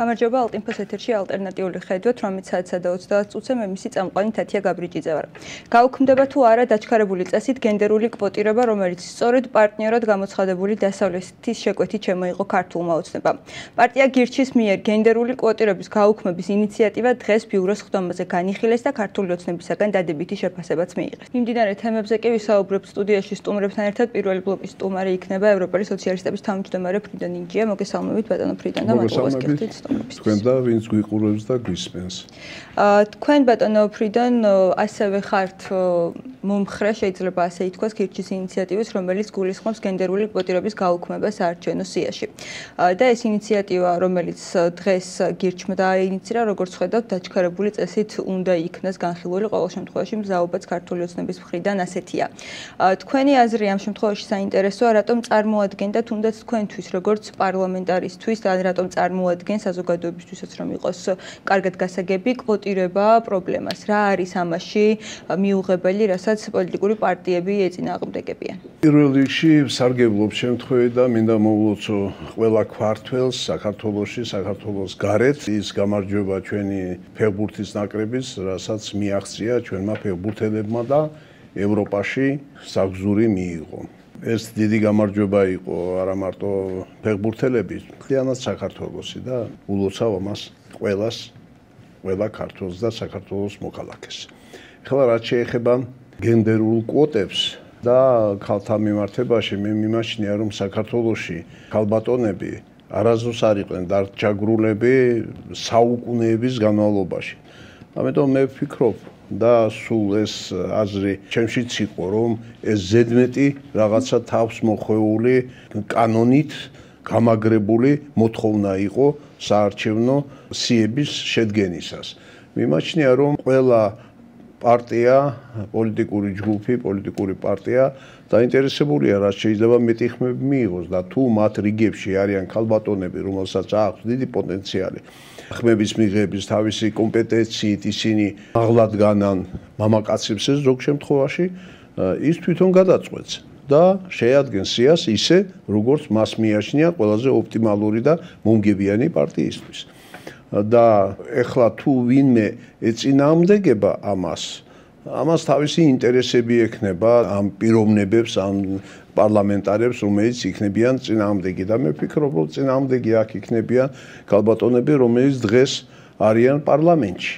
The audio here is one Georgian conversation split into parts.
გამარჯობა ალტინფოს ეთერში ალტერნატიული ხედვით 18:30 მე მისი წამყვანი თათია გაბრიჭიძე ვარ. გაუქმდება თუ არა დაჩქარებული წესით გენდერული კვოტირება, რომელიც სწორედ პარტნიორად გამოცხადებული დასავლეთის შეკვეთით შემოიღო ქართულმა ოცნებამ. პარტია გირჩის მიერ გენდერული კვოტირების გაუქმების ინიციატივა დღეს ბიუროს ხდომაზე განიხილეს და ქართული ოცნებისაგან დადებითი შეფასებაც მიიღეს. მიმდინარე თემებზე კი ვისაუბრებთ სტუდიაში სტუმრებთან ერთად. პირველი ბლოკის სტუმარი იქნება ევროპელი სოციალისტების თავმჯდომარე ფრიდა ნინჯია. მოგესალმებით ბატონო ფრიდან და მადლობა გიხდით სტუმრობისთვის. თქვენ და ვინც გვიყურებს და გვისმენს. თქვენ ბატონო ფრიდან ასევე ხართ მომხრე, შეიძლება ასე ითქვას, გირჩის ინიციატივის, რომელიც გულისხმობს გენდერული კვოტირების გაუქმებას საარჩევნო სიაში. და ეს ინიციატივა, რომელიც დღეს გირჩმა დააინიცირა, როგორც ხედავთ, დაჩქარებული წესით უნდა იქნას განხილული, ყოველ შემთხვევაში მზაობაც ქართული ოცნების მხრიდან ასეთია. თქვენი აზრი ამ შემთხვევაში საინტერესოა, რატომ წარმოადგენდა თუნდაც თქვენთვის, როგორც პარლამენტარისთვის და რატომ წარმოადგენს საზოგადოებისთვისაც რომ იყოს კარგად გასაგები კვოტირება პრობლემას. რა არის ამაში მიუღებელი, რასაც პოლიტიკური პარტიები ეწინააღმდეგებიან? პირველ რიგში სარგებლობ შემთხვევით და მინდა მოვულოცო ყველა ქართველს საქართველოს გარეთ ის გამარჯვება ჩვენი ფეხბურთის ნაკრების, რასაც მიაღწია ჩვენმა ფეხბურთელებმა და ევროპაში საგზური მიიღო. ეს დიდი გამარჯვება იყო არა მარტო ფეხბურთელების, მთლიანად საქართველოსი და ულოცავ ამას ყველა ქართველს და საქართველოს მოქალაქეს. ახლა რაც შეეხება გენდერულ კვოტებს და ქალთა მიმართებაში, მე მიმაჩნია რომ საქართველოში ქალბატონები არასდროს არ იყვნენ დარჩაგრულები საუკუნეების განმავლობაში. ამიტომ მე ვფიქრობ და სულ ეს აზრი ჩემშიც იყო, რომ ეს ზედმეტი რაღაცა თავს მოხვეული კანონით გამაგრებული მოთხოვნა იყო საარჩევნო სიების შედგენისას. მიმაჩნია, რომ ყველა პარტია, პოლიტიკური ჯგუფი, პოლიტიკური პარტია დაინტერესებულია, რაც შეიძლება მეტი ხმები მიიღოს და თუ მათ რიგებში არიან ქალბატონები, რომელსაც აქვს დიდი პოტენციალი ხმების მიღების თავისი კომპეტენციით ისინი მაღლად განან მამაკაცებს ეს ზოგ შემთხვევაში ის თვითონ გადაწყვეტს და შეადგენს სიას ისე, როგორც მას მიაჩნია ყველაზე ოპტიმალური და მომგებიანი პარტიისთვის. და ეხლა თუ ვინმე ეწინააღმდეგება ამას თავისი ინტერესები ექნება ამ პიროვნებებს, ამ პარლამენტარებს, რომელიც იქნებიან წინააღმდეგი და მე ვფიქრობ, რომ წინააღმდეგი აქ იქნებიან ქალბატონები, რომელიც დღეს არიან პარლამენტში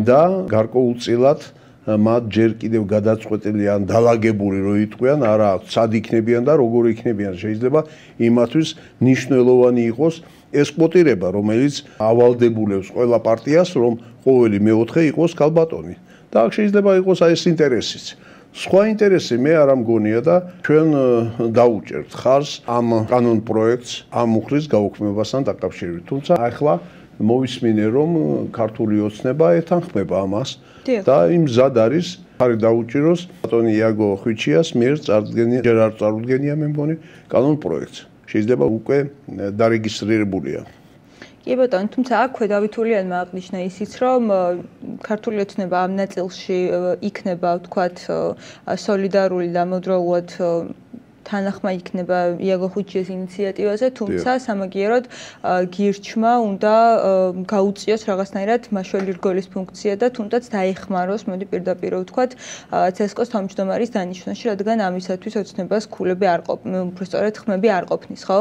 და გარკვეულწილად მათ ჯერ კიდევ გადაწყვეტილი ან დალაგებული რო იტყვიან, არა აქვს სად იქნებიან და როგორ იქნებიან. შეიძლება იმათთვის მნიშვნელოვანი იყოს ეს კვოტირება, რომელიც ავალდებულებს ყველა პარტიას, რომ ყოველი მეოთხე იყოს ქალბატონი. და აქ შეიძლება იყოს ეს ინტერესიც. სხვა ინტერესი მე არ მგონია და ჩვენ დაუჭერთ ხარს ამ კანონ პროექტს ამ მუხლის გაუქმებასთან დაკავშირებით. თუმცა ახლა მოვისმინე, რომ ქართული ოცნება ეთანხმება ამას და იმ მზად არის ხარი დაუჭიროს ბატონი იაგო ხვიჩიას მიერ ჯერ არ წარუდგენია მე მგონი კანონ პროექტს. შეიძლება უკვე დარეგისტრირებულია. კი ბატონო, თუმცა აქვე დავითულიანმა აღნიშნა ისიც, რომ ქართული ოცნება ამ ნაწილში იქნება, ვთქვათ, სოლიდარული და ამავდროულად თანახმა იქნება იაგო ხვიჩიას ინიციატივაზე, თუმცა სამაგიეროდ გირჩმა უნდა გაუწიოს რაღაცნაირად მაშველი რგოლის ფუნქცია და თუნდაც დაეხმაროს, მოდი პირდაპირ ვთქვათ, ცესკოს თავმჯდომარის დანიშვნაში, რადგან ამისათვის ოცნებას ქულები არ ყოფნის, უბრალოდ ხმები არ ყოფნის, ხო?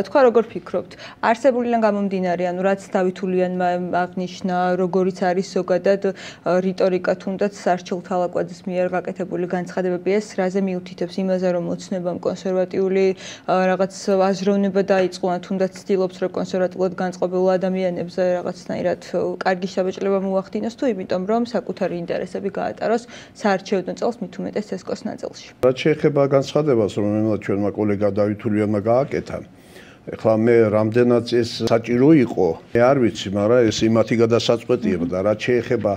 თქვა როგორ ფიქრობთ? არსებულიდან გამომდინარე, ანუ რაც დავითულიანმა აღნიშნა, როგორიც არის ზოგადად რიტორიკა თუნდაც სარჩილ თალაკვაძის მიერ გაკეთებული განცხადებები, ეს რაზე მიუთითებს იმაზე, რომ ოცნებამ კონსერვატიული რაღაც აზროვნება დაიწყო, თუნდაც ცდილობს, რომ კონსერვატულად განწყობილ ადამიანებზე რაღაცნაირად კარგი შაბეჭდილება მოახდინოს, თუ იმიტომ, რომ საკუთარი ინტერესები გაატაროს საარჩევნო წელს, მით უმეტეს ცესკოს ნაწილში. რაც შეეხება განცხადებას, რომელსაც ჩვენმა კოლეგა დავითულიანმა გააკეთა, ეხლა მე რამდენად ეს საჭირო იყო, მე არ ვიცი, მაგრამ ეს იმათი გადასაწყვეტია და რაც შეეხება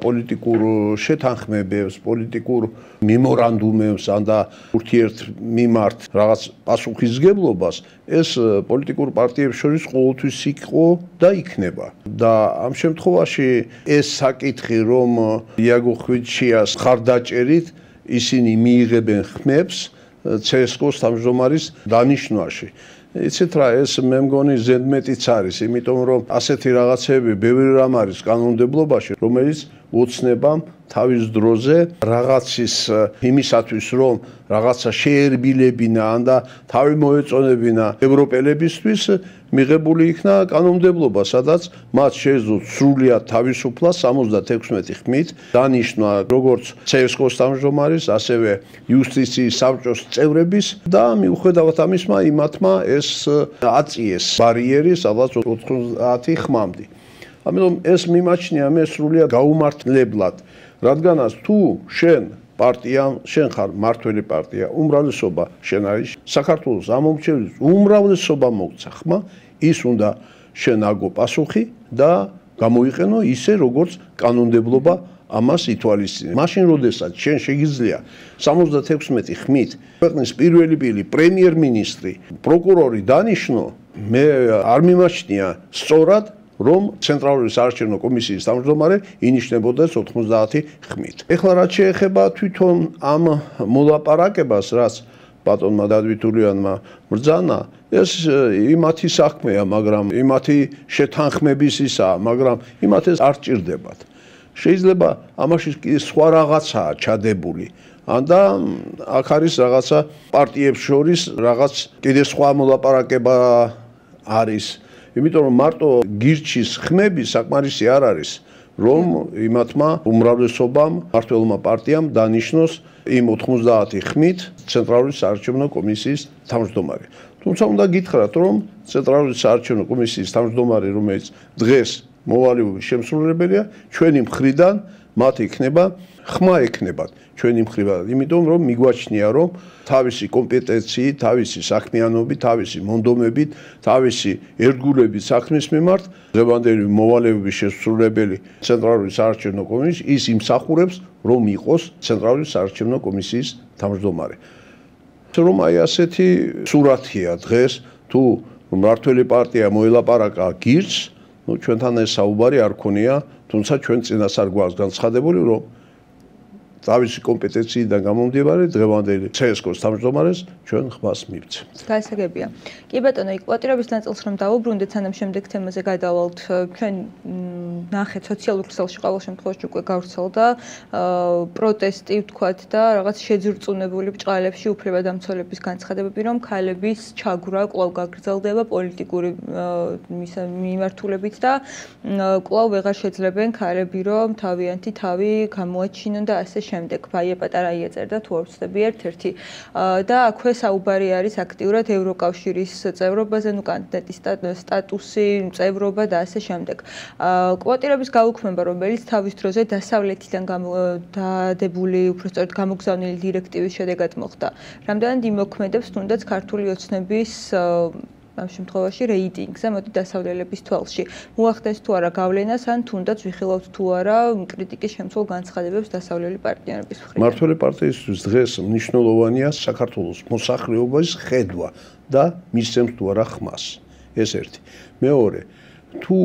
პოლიტიკურ შეთანხმებებს, პოლიტიკურ მემორანდუმებს ან და ურთიერთმიმართ რაღაც პასუხისგებლობას, ეს პოლიტიკურ პარტიებს შორის ყოველთვის იყო და იქნება. და ამ შემთხვევაში ეს საკითხი, რომ იაგო ხვიჩიას ხარდაჭერით ისინი მიიღებენ ხმებს ცესკოს თავმჯდომარის დანიშვნაში. იცით რა, ეს მე მგონი ზედმეტიც არის, იმიტომ რომ ასეთი რაღაცები ბევრი რამ არის კანონმდებლობაში, რომელიც ოცნებამ თავის დროზე რაღაცის იმისათვის, რომ რაღაცა შეერბილებინა ან და თავი მოეწონებინა ევროპელებისთვის მიღებული იქნა კანონმდებლობა, სადაც მათ შეეძლოთ სრულიად თავისუფლად 76 ხმით დანიშნა როგორც CSKO-ს თავმჯდომარის, ასევე იუსტიციის საბჭოს წევრების და მიუხედავად ამისმა იმათმა ეს აწიეს ბარიერი, სადაც 90 ხმამდე. ამიტომ ეს მიმაჩნია მე სრულიად გაუმართლებლად, რადგანაც თუ შენ პარტია, შენ ხარ მართველი პარტია, უმრავლესობა შენ არის საქართველოს ამომრჩევლის უმრავლესობა მოგცა ხმა, ის უნდა შენ აგო პასუხი და გამოიყენო ისე, როგორც კანონმდებლობა ამას ითვალისწინებს. მაშინ, როდესაც შენ შეგიძლია 76 ხმით ქვეყნის პირველი პრემიერ-მინისტრი, პროკურორი დანიშნო, მე არ მიმაჩნია სწორად რომ ცენტრალური საარჩევნო კომისიის თავმჯდომარე ინიშნებოდეს 90 ხმით. ეხლა რაც შეეხება თვითონ ამ მოლაპარაკებას, რაც ბატონმა დადვითულიანმა ბრძანა, ეს იმათი საქმეა, მაგრამ იმათი შეთანხმების ისაა, მაგრამ იმათ ეს არ ჭირდებათ. შეიძლება ამაში კიდე სხვა რაღაცაა ჩადებული. და აქ არის რაღაცა პარტიებს შორის რაღაც კიდე სხვა მოლაპარაკება არის. იმიტომ რომ მარტო გირჩის ხმები საკმარისი არ არის, რომ იმათმა უმრავლესობამ მმართველმა პარტიამ დანიშნოს იმ 90 ხმით ცენტრალური საარჩევნო კომისიის თავმჯდომარე. თუმცა უნდა გითხრათ, რომ ცენტრალური საარჩევნო კომისიის თავმჯდომარე, რომელიც დღეს მოვალეობის შემსრულებელია, ჩვენი მხრიდან მათ იქნება ხმა ექნებათ ჩვენი მხრიდან, იმიტომ რომ მიგვაჩნია, რომ თავისი კომპეტენციით, თავისი საქმიანობით, თავისი მონდომებით, თავისი ერთგულებით საქმის მიმართ დღევანდელი მოვალეობის შესრულებელი ცენტრალური საარჩევნო კომისიის ის იმსახურებს, რომ იყოს ცენტრალური საარჩევნო კომისიის თავმჯდომარე. რომ აი ასეთი სურათია დღეს, თუ მმართველი პარტია მოელაპარაკა გირჩს, ჩვენთან ეს საუბარი არ ქონია, თუმცა ჩვენ წინას არ გვაქვს განცხადებული, რომ თავისი კომპეტენციიდან გამომდინარე დღევანდელი CSKO-ს თავმჯდომარეს ჩვენ ხმას მივცემთ. გაისაგებია. კი ბატონო, იქ კვოტირების ნაწილს რომ დავუბრუნდეთ, სანამ შემდეგ თემაზე გადავალთ, ჩვენ ნახეთ სოციალურ ქსელში ყოველ შემთხვევაში უკვე გავრცელდა პროტესტი, ვთქვათ და რაღაც შეძრწუნებული ბრჭყალებში უფლებადამცველების განცხადებები, რომ ქალების ჩაგვრა კვლავ გაგრძელდება პოლიტიკური მიმართულებით და კვლავ ვეღარ შეძლებენ ქალები, რომ თავიანთი თავი გამოაჩინონ და ასე შემდეგ. ბაია პატარაია წერდა თუ არ ვცდები ერთ-ერთი და აქვე საუბარი არის აქტიურად ევროკავშირის წევრობაზე, ნუ კანდიდატის სტატუსი, წევრობა და ასე შემდეგ. კვოტირების გაუქმება, რომელიც თავის დროზე დასავლეთიდან დადებული, უბრალოდ გამოგზავნილი დირექტივის შედეგად მოხდა. რამდენად იმოქმედებს თუნდაც ქართული ოცნების ამ შემთხვევაში რეიტინგზე, მოდი დასავლელების თვალში. მოახდენს თუ არა გავლენას, ან თუნდაც ვიხილავთ თუ არა კრიტიკის შემცველ განცხადებებს დასავლელი პარტნიორების მხრიდან. მმართველი პარტიისთვის დღეს მნიშვნელოვანია საქართველოს მოსახლეობის ხედვა და მისცემს თუ არა ხმას. ეს ერთი. მეორე, თუ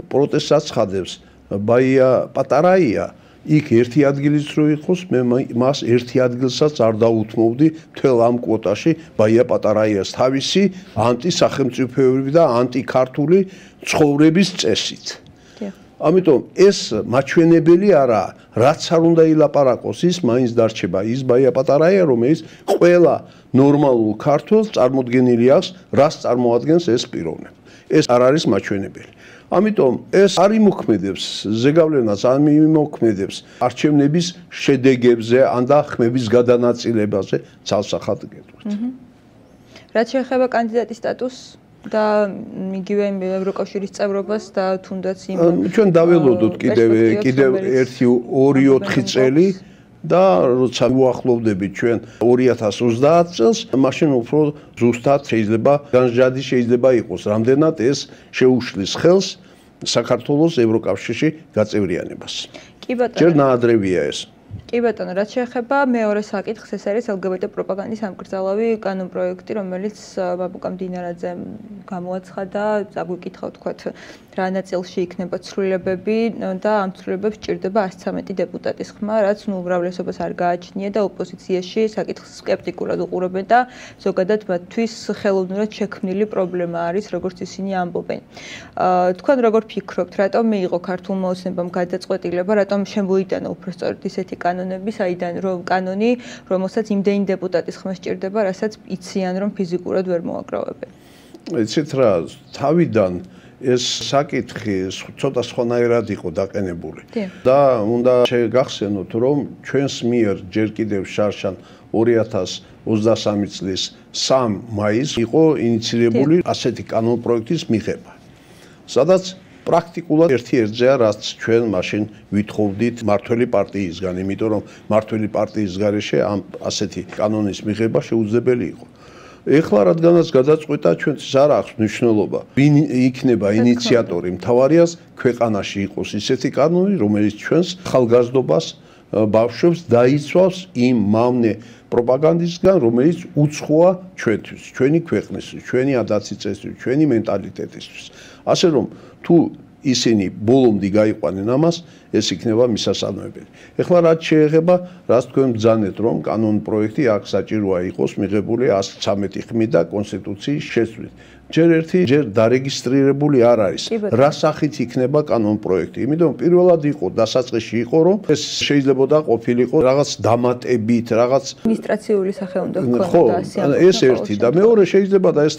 პროტესტს აცხადებს ბაია პატარაია, იქ ერთი ადგილიც რო იყოს, მე მას ერთი ადგილსაც არ დაუთმობდი მთელ ამ კვოტაში ბაია პატარაიას თავისი ანტისახელმწიფოებრივი და ანტიქართული ცხოვრების წესით. ამიტომ ეს მაჩვენებელი არაა, რაც არ უნდა ილაპარაკოს, ის მაინც დარჩება ის ბაია პატარაია, რომელიც ყველა ნორმალურ ქართველს წარმოდგენილი აქვს, რას წარმოადგენს ეს პიროვნება. ეს არ არის მაჩვენებელი. ამიტომ ეს არ იმოქმედებს ზეგავლენას, არ იმოქმედებს არჩევნების შედეგებზე, ან და ხმების გადანაწილებაზე ცალსახად გეტყვით. რაც შეეხება კანდიდატის სტატუსს და იგივე ევროკავშირის წევრობას და თუნდაც იმ ჩვენ დაველოდოთ კიდევ 2-4 წელი და როცა უახლოვდებით ჩვენ 2030 წელს, მაშინ უფრო ზუსტად შეიძლება განსჯადი შეიძლება იყოს, რამდენად ეს შეუშლის ხელს საქართველოს ევროკავშირში გაწევრიანებას. კი ბატონო. ჯერ ნაადრევია ეს. კი კი ბატონო, რაც შეეხება მეორე საკითხს, ეს არის LGBT პროპაგანდის ამკრძალავი კანონპროექტი, რომელიც ბაბუკა მდინარაძემ გამოაცხადა, აგვიკითხავ თქვათ, რა ნაწილში იქნება ცვლილებები და ამ ცვლილებებს სჭირდება 113 დეპუტატის ხმა, რაც უმრავლესობას არ გააჩნია და ოპოზიციაში საკითხს სკეპტიკურად უყურებენ და ზოგადად მათთვის ხელოვნურად შექმნილი პრობლემა არის, როგორც ისინი ამბობენ. თქვენ როგორ ფიქრობთ, რატომ მიიღო ქართულმა ოცნებამ გადაწყვეტილება, რატომ შემოიტანა უბრალოდ ისეთი კანონები, საიდან რომ კანონი, რომელსაც იმდენი დეპუტატის ხმა სჭირდება, რასაც იციან, რომ ფიზიკურად ვერ მოაგროვებენ. იცით რა, თავიდან ეს საკითხი ცოტა სხვანაირად იყო დაყენებული და უნდა შეგახსენოთ, რომ ჩვენს მიერ ჯერ კიდევ შარშან 2023 წლის 3 მაისს იყო ინიციირებული ასეთი კანონპროექტის მიღება, სადაც პრაქტიკულად ერთ-ერთზეა, რაც ჩვენ მაშინ ვითხოვდით მართველი პარტიისგან, იმიტომ რომ მართველი პარტიის გარეშე ამ ასეთი კანონის მიღება შეუძლებელი იყო. ეხლა რადგანაც გადაწყვეტა, ჩვენთვის არ აქვს მნიშვნელობა, ვინ იქნება ინიციატორი, მთავარიას ქვეყანაში იყოს ისეთი კანონი, რომელიც ჩვენს ხალხგაზრდობას, ბავშვებს დაიცვავს იმ მავნე პროპაგანდისგან, რომელიც უცხოა ჩვენთვის, ჩვენი ქვეყნისთვის, ჩვენი ადაცი-წესთვის, ჩვენი მენტალიტეტისთვის. ასე რომ თუ ისინი ბოლომდე გაიყვანენ ამას, ეს იქნება მისასალმებელი. ეხლა რაც შეეხება, რაც თქვენ ბრძანეთ, რომ კანონპროექტი აქ საჭიროა იყოს მიღებული 113 ხმით და კონსტიტუციის შეცვლით. ჯერ დარეგისტრირებული არ არის. რა სახით იქნება კანონპროექტი? იმიტომ პირველად იყო დასაწყისში იყო, რომ ეს შეიძლებოდა ყოფილიყო რაღაც დამატებით, რაღაც ადმინისტრაციული სახე უნდა ჰქონოდა ასე. ეს ერთი და მეორე შეიძლება და ეს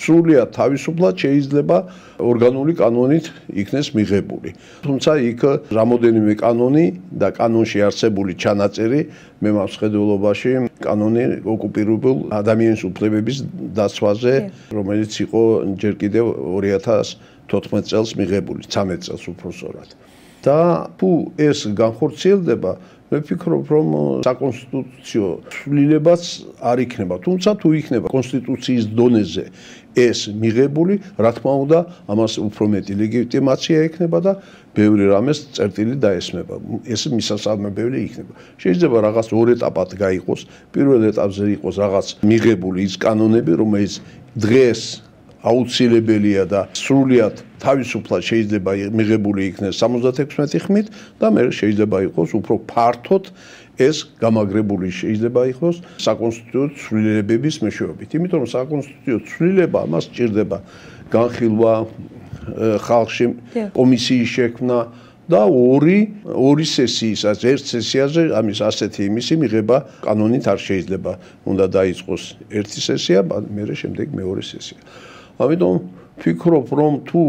სრულიად თავისუფლად შეიძლება ორგანული კანონით იქნეს მიღებული. თუმცა იქ რამოდენიმე კანონი და კანონში არსებული ჩანაწერი მე მაქვს ხედველობაში კანონი ოკუპირებულ ადამიანის უფლებების დაცვაზე, რომელიც იყო ჯერ კიდევ 2014 წელს მიღებული, 13 წელს უпроსორად. და თუ ეს განხორციელდება, მე ვფიქრობ, რომ საკონსტიტუციო ცვლილებაც არ იქნება. თუმცა თუ იქნება კონსტიტუციის დონეზე ეს მიღებული, რა თქმა უნდა, ამას უფრო მეტი ლეგიტიმაცია ექნება და ბევრი რამეს წერტილი დაესმება. ეს მისასალმებელი იქნება. შეიძლება რაღაც ორ ეტაპად გაიყოს. პირველ ეტაპზე იყოს რაღაც მიღებული ის კანონები, რომელიც დღეს აუცილებელია და სრულიად თავისუფლად შეიძლება მიღებული იქნეს 76 ხმით და მე შეიძლება იყოს უფრო ფართოდ ეს გამაგრებული შეიძლება იყოს საკონსტიტუციო ცვლილებების მეშვეობით. იმიტომ რომ საკონსტიტუციო ცვლილება მას სჭირდება განხილვა ხალხში, კომისიის შექმნა და ორი სესიისას, ერთ სესიაზე ამის ასეთი იმისი მიღება კანონით არ შეიძლება. უნდა დაიწყოს ერთი სესია, მერე შემდეგ მეორე სესია. ამიტომ ვფიქრობ, რომ თუ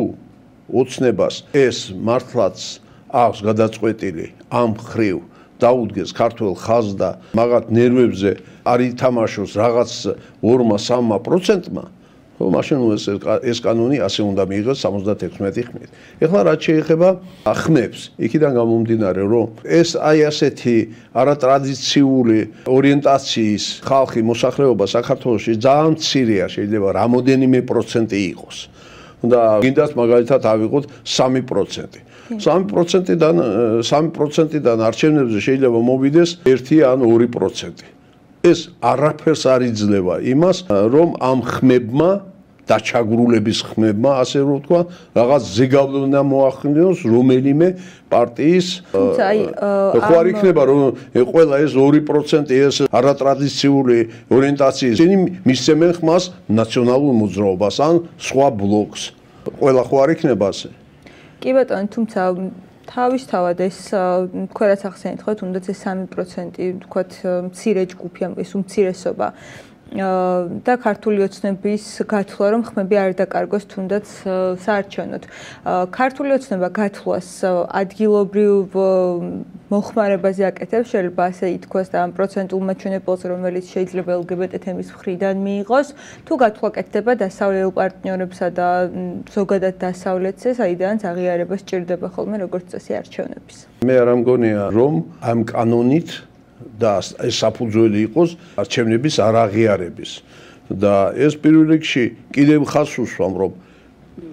ოცნებას ეს მართლაც აქვს გადაწყვეტილი ამ ხრივ დაუდგეს ქართველ ხაზს და მაგათ ნერვებზე არ ითამაშოს რაღაც 2-3%-მა, მაშინ ეს კანონი ასე უნდა მიიღოს 76 ხმით. ეხლა რაც შეეხება ხმებს, იქიდან გამომდინარე, რომ ეს აი ასეთი არატრადიციული ორიენტაციის ხალხი მოსახლეობა საქართველოში ძალიან მცირეა, შეიძლება რამოდენიმე პროცენტი იყოს. და გინდათ მაგალითად ავიღოთ 3%. 3%-დან არჩევნებზე შეიძლება მოვიდეს 1 ან 2%. ეს არაფერს არ იძლევა იმას, რომ ამ ხმებმა დაჩაგრულების ხმებმა, ასე რომ ვთქვა, რაღაც ზეგავლენა მოახდინოს რომელიმე პარტიის. ხო არ იქნება, რომ ყველა ეს 2% ეს არატრადიციული ორიენტაციის ისინი მისცემენ ხმას ნაციონალურ მოძრაობას ან სხვა ბლოკს. ყველა ხო არ იქნება ასე? კი ბატონო, თუმცა თავისთავად ეს თქვენაც ახსენეთ, ხო, თუნდაც ეს 3% თქვათ მცირე ჯგუფი, ეს უმცირესობა და ქართული ოცნების გათვლა, რომ ხმები არ დაკარგოს თუნდაც საარჩევნოდ. ქართული ოცნება გათვლას ადგილობრივ მოხმარებაზე აკეთებს, შეიძლება ასე ითქვას და ამ პროცენტულ მაჩვენებელზე, რომელიც შეიძლება LGBT თემის მხრიდან მიიღოს, თუ გათვლა კეთდება დასავლელ პარტნიორებსა და ზოგადად დასავლეთზე, საიდანაც აღიარება სჭირდება ხოლმე როგორც წესი არჩევნების. მე არ მგონია, რომ ამ კანონით და ეს საფუძველი იყოს არჩევნების არაღიარების და ეს პირველ რიგში კიდევ ხაზს უსვამ, რომ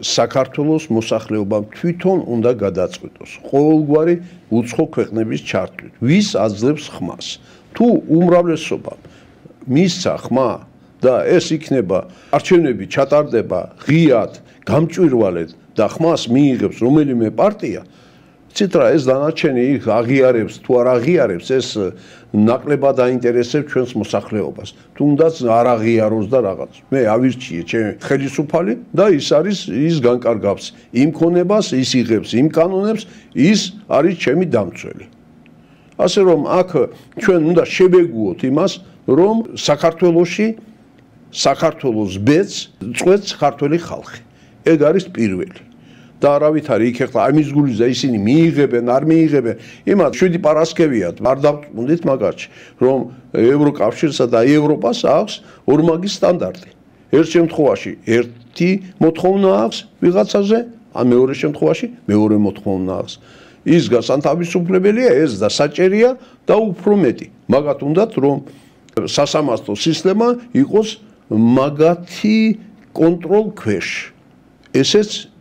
საქართველოს მოსახლეობამ თვითონ უნდა გადაწყვიტოს ყოველგვარი უცხო ქვეყნების ჩართვით. ვის აძლევს ხმას? თუ უმრავლესობამ მისცა ხმა და ეს იქნება არჩევნები ჩატარდება ღიად, გამჭვირვალედ და ხმას მიიღებს რომელიმე პარტია, ცით რა ეს დანარჩენი აღიარებს თუ არ აღიარებს ეს ნაკლებად აინტერესებს ჩვენს მოსახლეობას. თუნდაც არ აღიაროს და რაღაც. მე ავირჩიე ჩემი ხელისუფალი და ის განკარგავს იმ ქონებას, ის იღებს იმ კანონებს, ის არის ჩემი დამცველი. ასე რომ აქ ჩვენ უნდა შევეგუოთ იმას, რომ საქართველოს ბედს წვეთს ქართველი ხალხი. ეგ არის პირველი. და არავითარი იქ ახლა ამის გულიზა ისინი მიიღებენ, არ მიიღებენ. იმათ 7 პარასკევიათ, არ დავწუნდით მაგარში, რომ ევროკავშირსა და ევროპას აქვს ორმაგი სტანდარტი. ერთ შემთხვევაში ერთი მოთხოვნა აქვს ვიღაცაზე, ან მეორე შემთხვევაში მეორე მოთხოვნა აქვს. ის გასანთავისუფლებელია, ეს და საჭერია და უფრო მეტი. მაგათ უნდათ რომ სასამართლო სისტემა იყოს მაგათი კონტროლ ქვეშ. ეს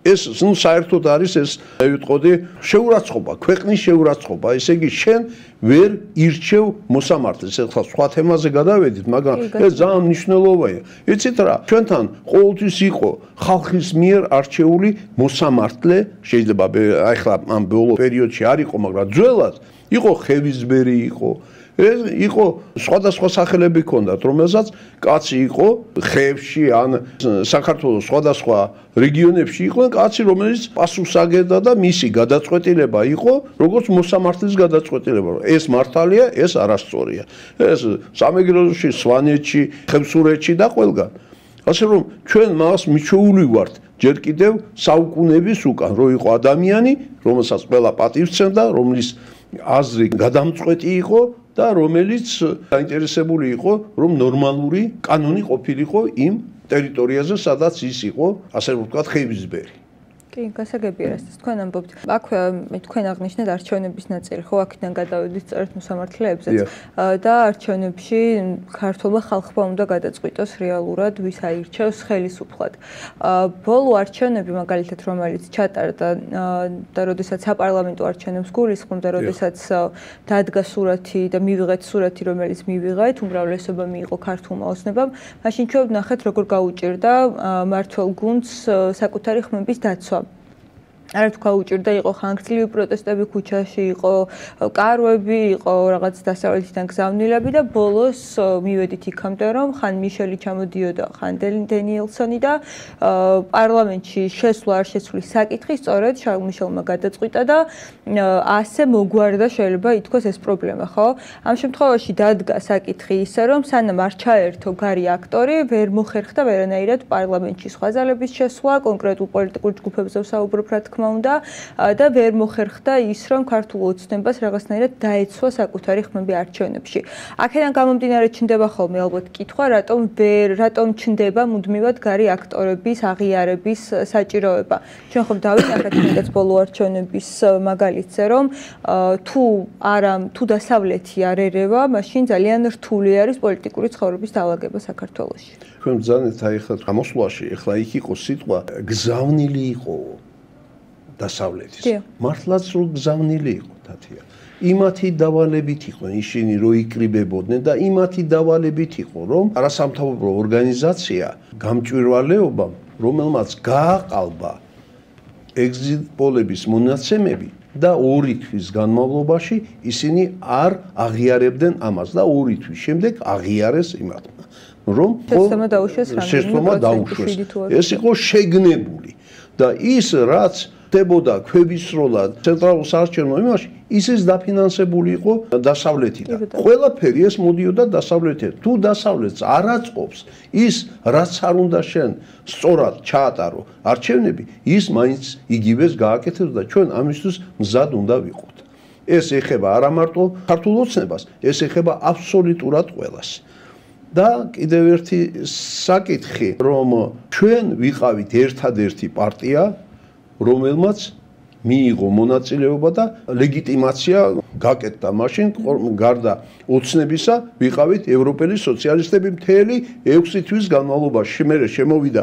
საერთოდ არის ეს ვიტყოდი შეურაცხყოფა, ქვეყნის შეურაცხყოფა, ესე იგი შენ ვერ ირჩევ მოსამართლეს. ეხლა სხვა თემაზე გადავედით, მაგრამ ეს ძალიან მნიშვნელოვანია. იცით რა, ჩვენთან ყოველთვის იყო ხალხის მიერ არჩეული მოსამართლე, შეიძლება ახლა ამ ბოლო პერიოდში არ იყო, მაგრამ ძველად იყო ხევისბერი იყო. იყო სხვადასხვა სახელები ჰქონდათ, რომელსაც კაცი იყო ხევში ან საქართველოს სხვადასხვა რეგიონებში იყვნენ კაცი, რომელიც პასუხს აგებდა და მისი გადაწყვეტილება იყო, როგორც მოსამართლის გადაწყვეტილება. ეს მართალია, ეს არასწორია. ეს სამეგრელოში, სვანეთში, ხევსურეთში და ყველგან. ასე რომ ჩვენ მას მიჩვეული ვართ ჯერ კიდევ საუკუნეების უკან, რომ იყო ადამიანი, რომელსაც ყველა პატივს სცემდა, რომლის აზრი გადამწყვეტი იყო და რომელიც დაინტერესებული იყო, რომ ნორმალური კანონი ყოფილიყო იმ ტერიტორიაზე, სადაც ის იყო, ასე ვთქვათ, ხევისბერი. კი, გასაგებია, რასაც თქვენ ამბობთ. აქვე თქვენ აღნიშნეთ არჩევნების ნაწილი, ხო, აქედან გადავედით სწორედ მოსამართლეებზეც და არჩევნებში ქართულმა ხალხმა უნდა გადაწყვიტოს რეალურად, ვის აირჩევს ხელისუფლად. ბოლო არჩევნები, მაგალითად, რომელიც ჩატარდა და როდესაც საპარლამენტო არჩევნებს გულისხმობ და როდესაც დადგა სურათი და მივიღეთ სურათი, რომელიც მივიღეთ, უმრავლესობა მიიღო ქართულმა ოცნებამ, მაშინ ჩვენ ვნახეთ, როგორ გაუჭირდა მმართველ გუნდს საკუთარი ხმების დაცვა. არ თქვა უჭირდა, იყო ხანგრძლივი პროტესტები ქუჩაში, იყო კარვები, იყო რაღაც დასავლეთიდან გზავნილები და ბოლოს მივედით იქამდე, რომ ხან მიშელი ჩამოდიოდა, ხან დენიელსონი და პარლამენტში შესვლა არ შესვლის საკითხი სწორედ შარლ მიშელმა გადაწყვიტა და ასე მოგვარდა შეიძლება ითქვას ეს პრობლემა, ხო? ამ შემთხვევაში დადგა საკითხი ისე, რომ სანამ არ ჩაერთო გარი აქტორი, ვერ მოხერხდა ვერანაირად პარლამენტში სხვა ძალების შესვლა, კონკრეტულ პოლიტიკურ ჯგუფებზე ვსაუბრობ, რა თქმა უნდა და ვერ მოხერხდა ის, რომ ქართულ ოცნებას რაღაცნაირად დაეცვა საკუთარი ხმები არჩევნებში. აქედან გამომდინარე ჩნდება ხოლმე ალბათ კითხვა, რატომ ჩნდება მუდმივად გარი აქტორების აღიარების საჭიროება. ჩვენ ხომ დავინახეთ კიდეც ბოლო არჩევნების მაგალითზე, რომ თუ დასავლეთი არ ერევა, მაშინ ძალიან რთული არის პოლიტიკური ცხოვრების დაალაგება საქართველოში. თქვენ ბრძანეთ აი ხა გამოსვლაში, ეხლა იქ იყო სიტყვა გზავნილი იყო დასავლეთის. მართლაც რო გზავნილი იყო თათია. იმათი დავალებით იყო ისინი რო იკრიბებოდნენ და იმათი დავალებით იყო რომ არასამთავრობო ორგანიზაცია გამჭვირვალეობამ, რომელმაც გააყალბა ეგზიტ პოლების მონაცემები და 2 თვის განმავლობაში ისინი არ აღიარებდნენ ამას და 2 თვის შემდეგ აღიარეს იმათმა, რომ შეცდომა დაუშვეს. ეს იყო შეგნებული და ის რაც ხდებოდა ქვევისროლად ცენტრალურ საარჩევნო იმაში, ისიც დაფინანსებული იყო დასავლეთიდან. ყველაფერი ეს მოდიოდა დასავლეთიდან. თუ დასავლეთს არ აწყობს ის, რაც არ უნდა შენ სწორად ჩაატარო არჩევნები, ის მაინც იგივეს გააკეთებს და ჩვენ ამისთვის მზად უნდა ვიყოთ. ეს ეხება არა მარტო ქართულ ოცნებას, ეს ეხება აბსოლუტურად ყველას. და კიდევ ერთი საკითხი, რომ ჩვენ ვიყავით ერთადერთი პარტია, რომელმაც მიიღო მონაწილეობა და ლეგიტიმაცია გაკეთდა მაშინ გარდა ოცნებისა ვიყავით ევროპელი სოციალისტები მთელი 6 თვის განმავლობაში მერე შემოვიდა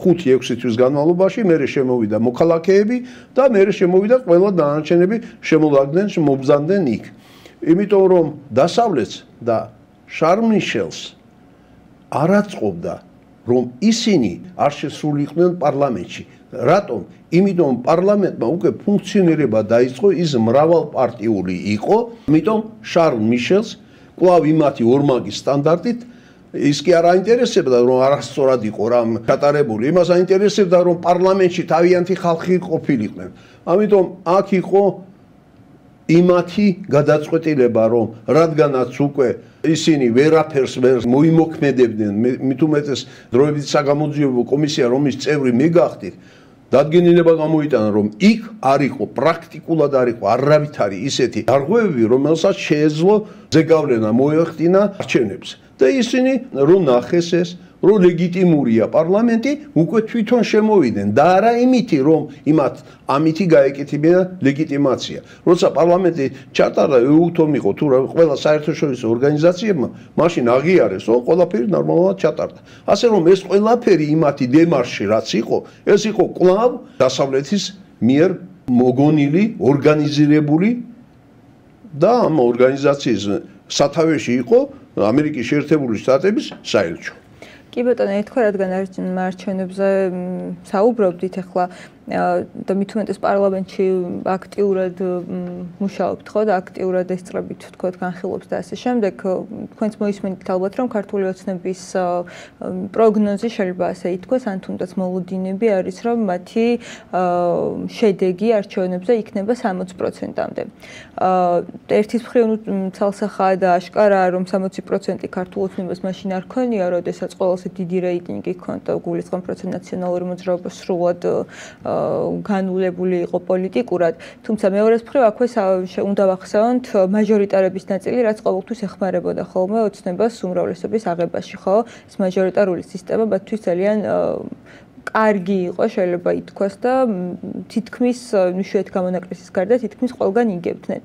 5-6 თვის განმავლობაში მერე შემოვიდა მოქალაქეები და მერე შემოვიდა ყველა დანარჩენები შემოლაგდნენ მობრძანდნენ იქ იმიტომ რომ დასავლეთს და შარლ მიშელს არ აწყობდა რომ ისინი არ შესულიყვნენ პარლამენტში რატომ? იმიტომ პარლამენტმა უკვე ფუნქციონირება დაიწყო ის მრავალპარტიული იყო, იმიტომ შარლ მიშელს კვლავ იმათი ორმაგის სტანდარტით ის კი არ აინტერესებდა რომ არასწორად იყო რამ ჩატარებული, იმას აინტერესებდა რომ პარლამენტში თავიანთი ხალხი ყოფილიყვნენ. ამიტომ აქ იყო იმათი გადაწყვეტილება რომ რადგანაც უკვე ისინი ვერაფერს ვერ მოიმოქმედებდნენ მით უმეტეს დროებით საგამოძიებო კომისია რომის წევრი მე გახდით დადგენილება გამოიტანა რომ იქ არ იყო პრაქტიკულად არ იყო არავითარი ისეთი დარღვევები რომელსაც შეეძლო ზეგავლენა მოეხდინა არჩევნებს და ისინი რომ ნახეს ეს რომ ლეგიტიმურია პარლამენტი უკვე თვითონ შემოვიდნენ და არა იმითი რომ იმათ ამითი გაეკეთებინა ლეგიტიმაცია როცა პარლამენტი ჩატარდა ეუთომ იყო თუ ყველა საერთაშორისო ორგანიზაციებმა მაშინ აღიარეს რომ ყველაფერი ნორმალურად ჩატარდა ასე რომ ეს ყველაფერი იმათი დემარში რაც იყო ეს იყო კვლავ დასავლეთის მიერ მოგონილი ორგანიზირებული და ამ ორგანიზაციის სათავეში იყო ამერიკის შეერთებული შტატების საელჩო კი ბატონო, ეთქვა რადგან არჩევნებზე საუბრობდით ახლა და მით უმეტეს პარლამენტში აქტიურად მუშაობთ ხო და აქტიურად ესწრებით თქო განხილვებს და ასე შემდეგ თქვენც მოისმენთ ალბათ რომ ქართული ოცნების პროგნოზი შეიძლება ასე ითქვას ან თუნდაც მოლოდინები არის რომ მათი შედეგი არჩევნებზე იქნება 60%-მდე. ერთის მხრივ ცალსახაა და აშკარაა რომ 60% ქართულ ოცნებას მაშინ არ ქონია, როდესაც ყველაზე დიდი რეიტინგი ჰქონდა გულისხმობ% ნაციონალური მოძრაობა სრულად განულებული იყო პოლიტიკურად, თუმცა მეორეს მხრივ აქვე უნდა ვახსენოთ მაჟორიტარების ნაწილი, რაც ყოველთვის ეხმარებოდა ხოლმე ოცნებას უმრავლესობის აღებაში, ხო? ეს მაჟორიტარული სისტემა მათთვის ძალიან კარგი იყო, შეიძლება ითქვას და თითქმის ნიშნეთ გამონაკლისის გარდა თითქმის ყველგან იგებდნენ.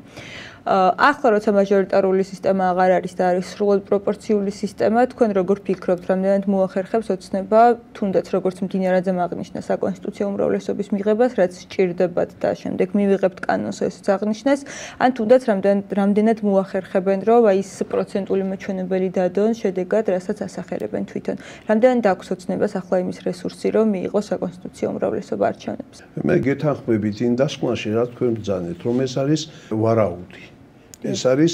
ახლა როცა მაჟორიტარული სისტემა აღარ არის და არის სრულად პროპორციული სისტემა, თქვენ როგორ ფიქრობთ, რამდენად მოახერხებს ოცნება, თუნდაც როგორც მდინარაძემ აღნიშნა საკონსტიტუციო უმრავლესობის მიღებას, რაც სჭირდებათ და შემდეგ მივიღებთ კანონს ესეც აღნიშნეს, ან თუნდაც რამდენად მოახერხებენ, რომ აი ეს პროცენტული მოჩვენებელი დადონ შედეგად, რასაც ასახელებენ თვითონ. რამდენად აქვს ოცნებას ახლა იმის რესურსი, რომ მიიღოს საკონსტიტუციო უმრავლესობა არჩევნებს? მე გეთანხმებით იმ დასკვნაში, რა თქვენ ბრძანეთ, რომ ეს არის ვარაუდი. ეს არის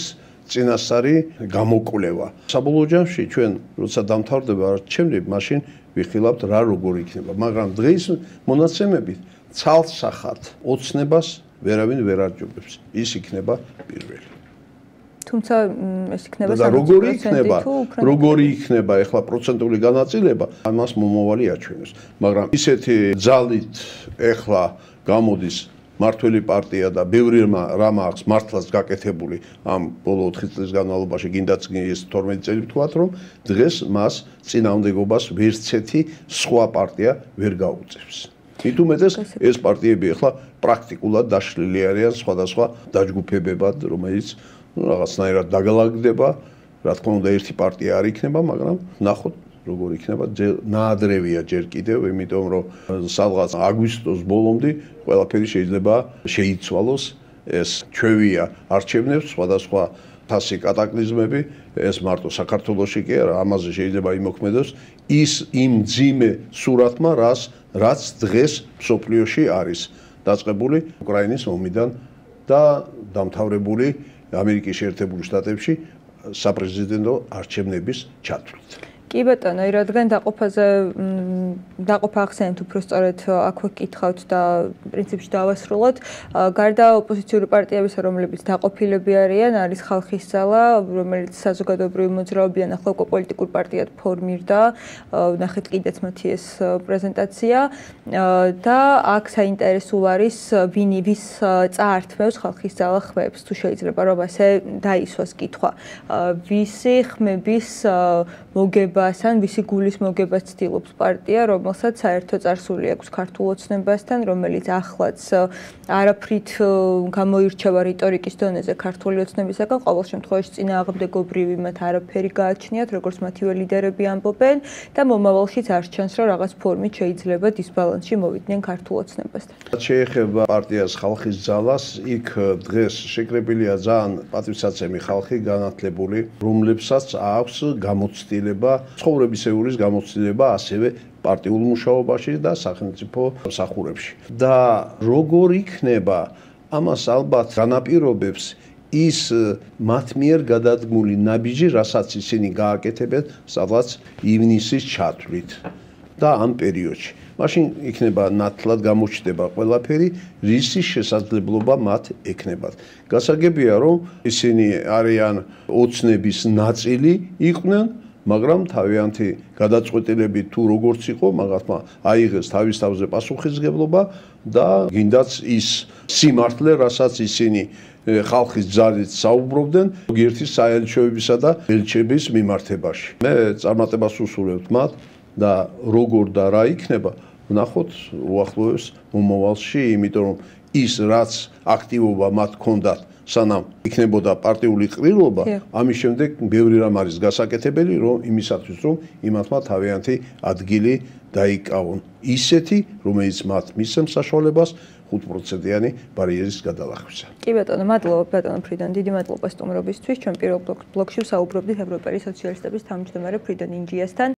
წინასწარი გამოკვლევა. საბოლოო ჯამში ჩვენ როცა დამთავრდება არჩევნები, მაშინ ვიხილავთ რა როგორ იქნება, მაგრამ დღეს მონაცემებით ცალსახად ოცნებას ვერავინ ვერ არჯობებს. ის იქნება პირველი. თუმცა ეს იქნება და როგორი იქნება ახლა პროცენტული განაწილება, ამას მომავალი აჩვენებს. მაგრამ ისეთი ძალით ახლა გამოდის მართველი პარტია და ბევრი რამ აქვს მართლაც გაკეთებული ამ ბოლო 4 წლის განმავლობაში, გინდაც ეს 12 წელი ვთქვათ, რომ დღეს მას წინააღმდეგობას ვერცერთი სხვა პარტია ვერ გაუწევს. მით უმეტეს ეს პარტიები ახლა პრაქტიკულად დაშლილი არიან სხვადასხვა დაჯგუფებებად, რომელიც რაღაცნაირად დაგალაგდება, რა თქმა უნდა ერთი პარტია არ იქნება, მაგრამ ნახოთ როგორ იქნება ნაადრევია ჯერ კიდევ, იმიტომ რომ სადღაც აგვისტოს ბოლომდე ყველაფერი შეიძლება შეიცვალოს, ეს ჩვევია არჩევნებს, სხვადასხვა თასი კატაკლიზმები, ეს მარტო საქართველოში კი არა, ამაზე შეიძლება იმოქმედოს ის იმ ძიმე სურათმა, რაც დღეს მსოფლიოში არის დაწყებული უკრაინის ომიდან და დამთავრებული ამერიკის შეერთებული შტატებში საპრეზიდენტო არჩევნების ჩათვლით. კი ბატონო, რადგან დაყოფა ახსენეთ უფრო სწორედ აქვე გკითხავთ და პრინციპში დავასრულოთ. გარდა ოპოზიციური პარტიებისა, რომლებიც დაყოფილები არიან, არის ხალხის ძალა, რომელიც საზოგადოებრივი მოძრაობიდან ახლა უკვე პოლიტიკურ პარტიად ფორმირდა. ნახეთ კიდეც მათი ეს პრეზენტაცია და აქ საინტერესო არის ვის წაართმევს ხალხის ძალა ხმებს, თუ შეიძლება რომ ასე დაისვას კითხვა. ვისი ხმების მოგება ან ვისი გულის მოგებას ცდილობს პარტია, რომელსაც საერთო წარსული აქვს ქართულ ოცნებასთან, რომელიც ახლაც არაფრით გამოირჩევა რიტორიკის დონეზე ქართული ოცნებისაგან, ყოველ შემთხვევაში წინააღმდეგობრივი მათ არაფერი გააჩნიათ, როგორც მათივე ლიდერები ამბობენ და მომავალშიც არ ჩანს, რომ რაღაც ფორმით შეიძლება დისბალანსში მოვიდნენ ქართულ ოცნებასთან. შეეხება პარტიას ხალხის ძალას, იქ დღეს შეკრებილია ძალიან პატივსაცემი ხალხი განათლებული, რომლებსაც აქვს გამოცდილება, ცხოვრებისეულის გამოცდილება ასევე პარტიულ მუშაობაში და სახელმწიფო მსახურებში. და როგორ იქნება, ამას ალბათ განაპირობებს ის მათ მიერ გადადგმული ნაბიჯი, რასაც ისინი გააკეთებენ, სადღაც ივნისის ჩათვლით და ამ პერიოდში. მაშინ იქნება ნათლად გამოჩნდება ყველაფერი, რისი შესაძლებლობა მათ ექნებათ. გასაგებია, რომ ისინი არიან ოცნების ნაწილი იყვნენ, მაგრამ თავიანთი გადაწყვეტილები თუ როგორც იყო, მაგათმა აიღეს თავის თავზე პასუხისმგებლობა და გინდაც ის სიმართლე, რასაც ისინი ხალხის ძალით საუბრობდნენ, ზოგიერთი საელჩოებისა და ელჩების მიმართებაში. მე წარმატებას უსურვებთ მათ და როგორ და რა იქნება, ვნახოთ უახლოეს მომავალში, იმიტომ რომ ის რაც აქტივობა მათ ჰქონდათ, სანამ იქნებოდა პარტიული ყრილობა, ამის შემდეგ ბევრი რამ არის გასაკეთებელი, რომ იმისათვის, რომ იმათმა თავიანთი ადგილი დაიკავონ. ისეთი, რომელიც მათ მისცემს საშუალებას 5%-იანი ბარიერის გადალახვისა. კი ბატონო, მადლობა ბატონო ფრიდონ, დიდი მადლობა სტუმრობისთვის. ჩვენ პირველ ბლოკში ვსაუბრობდით ევროპელი სოციალისტების თავმჯდომარე ფრიდონ ინჯიასთან.